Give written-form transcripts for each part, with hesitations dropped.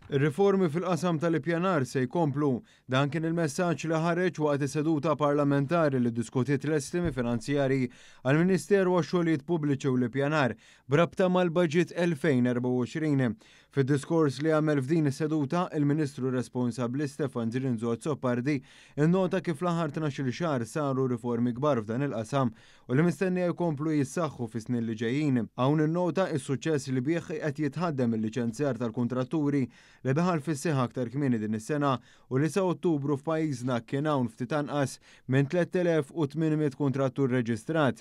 Ir-riformi fil-qasam tal-ippjanar se jkomplu. Dan kien il-messaġġ li ħareġ waqt is-seduta parlamentari li ddiskutiet l-estimi finanzjarji għall-Ministeru għax-Xogħlijiet Pubbliċi u l-Ippjanar b'rabta mal-Baġit 2024. Fid-diskors li għamel f'din is-seduta, il-Ministru responsabbli Stefan Zrinzo Azzopardi innota kif l-aħħar 12-il xahar saru riformi kbar f'dan il-qasam u li mistennija jkomplu jissaħħu fis-snin li ġejjin. Hawn innota s-suċċess li bih qed jitħaddem il-liċenzjar tal-kuntratturi li daħal fis-seħħ aktar kmieni din is-sena u li sa Ottubru f'pajjiżna kien hawn ftit anqas minn 3,800 kuntrattur reġistrat.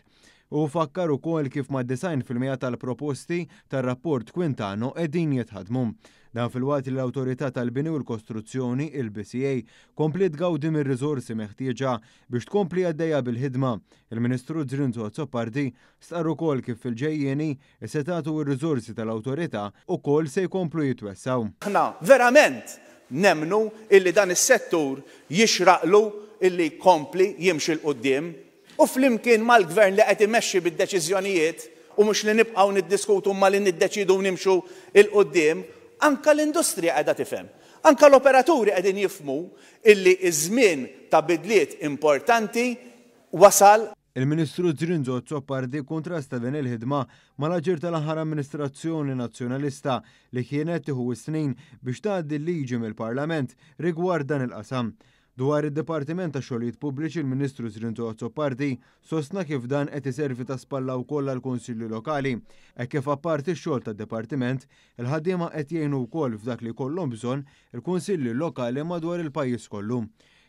Hu fakkar ukoll kif mad-90% tal-proposti tar-rapport Quintano qegħdin jitħaddmu. Dan filwaqt li l-Awtorità tal-Bini u l-Kostruzzjoni, il-BCA, kompliet tgawdi mir-riżorsi meħtieġa Biex tkompli għaddejja bil-ħidma, il-Ministru Zrinzo Azzopardi stqarr ukoll kif fil-ġejjieni, is-setgħat u r-riżorsi tal-Awtorità ukoll se jkomplu jitwessgħu. Aħna verament nemmnu illi dan is-settur jixraqlu illi jkompli jimxi 'l quddiem u flimkien mal-Gvern li qed imexxi bid-deċiżjonijiet u mhux li nibqgħu niddiskutu imma li niddeċiedu u nimxu 'l quddiem, anke l-industrija qiegħda tifhem. Anke l-operaturi qegħdin jifhmu illi ż-żmien ta' bidliet importanti wasal. Il-Ministru Zrinzo Azzopardi kkuntrasta din il-ħidma mal-aġir tal-aħħar amministrazzjoni Nazzjonalista li kienet tieħu s-snin biex tgħaddi l-liġi mill-Parlament rigward dan il-qasam. Dwar id-Dipartiment tax-Xogħlijiet Pubbliċi l-Ministru Zrinzo Azzopardi sostna kif dan qed iservi ta' spalla wkoll għall-Kunsilli Lokali hekk kif apparti x-xogħol tad-Dipartiment, il-ħaddiema qed jgħinu wkoll f'dak li jkollhom bżonn il-Kunsilli Lokali madwar il-pajjiż kollu.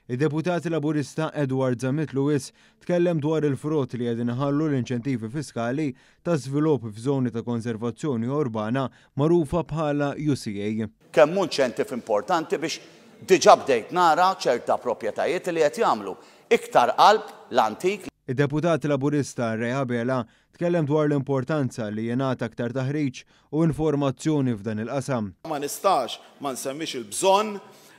Id-Deputat Laburista Edward Zammit Lewis tkellem dwar il-frott li qegħdin iħallu l-inċentivi fiskali ta' żvilupp f'żoni ta' konservazzjoni urbana magħrufa bħala UCA. Kemm hu inċentiv importanti biex diġà bdejt nara ċerta proprjetajiet li qed jagħmlu iktar qalb l-antik. Id-Deputat Laburista Ray Abela tkellem dwar l-importanza li jingħata aktar taħriġ u informazzjoni f'dan il-qasam. Ma nistax ma nsemmix il-bżonn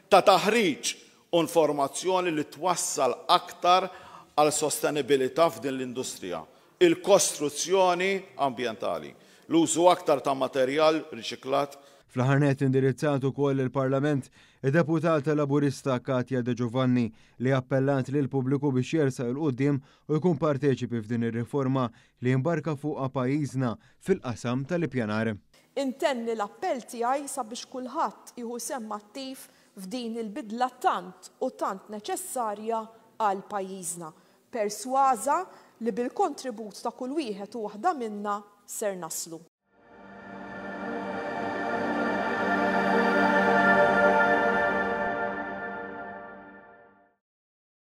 ta' taħriġ u informazzjoni li twassal aktar għal sostenibilità f'din l-industrija, il-kostruzzjoni ambjentali, l-użu aktar ta' materjal riċiklat. Fl-aħħar nett indirizzat ukoll lill-Parlament id-Deputata Laburista Katya De Giovanni li appellat lill-pubbliku biex jersaq 'il quddiem u jkun parteċipi f'din ir-riforma li imbarka fuqha pajjiżna fil-qasam tal-ippjanar. Intenni l-appell tiegħi sabiex kulħadd jieħu sehem attiv f'din il-bidla tant u tant neċessarja għal pajjiżna. Persważa li bil-kontribut ta' kull wieħed u waħda minna ser naslu.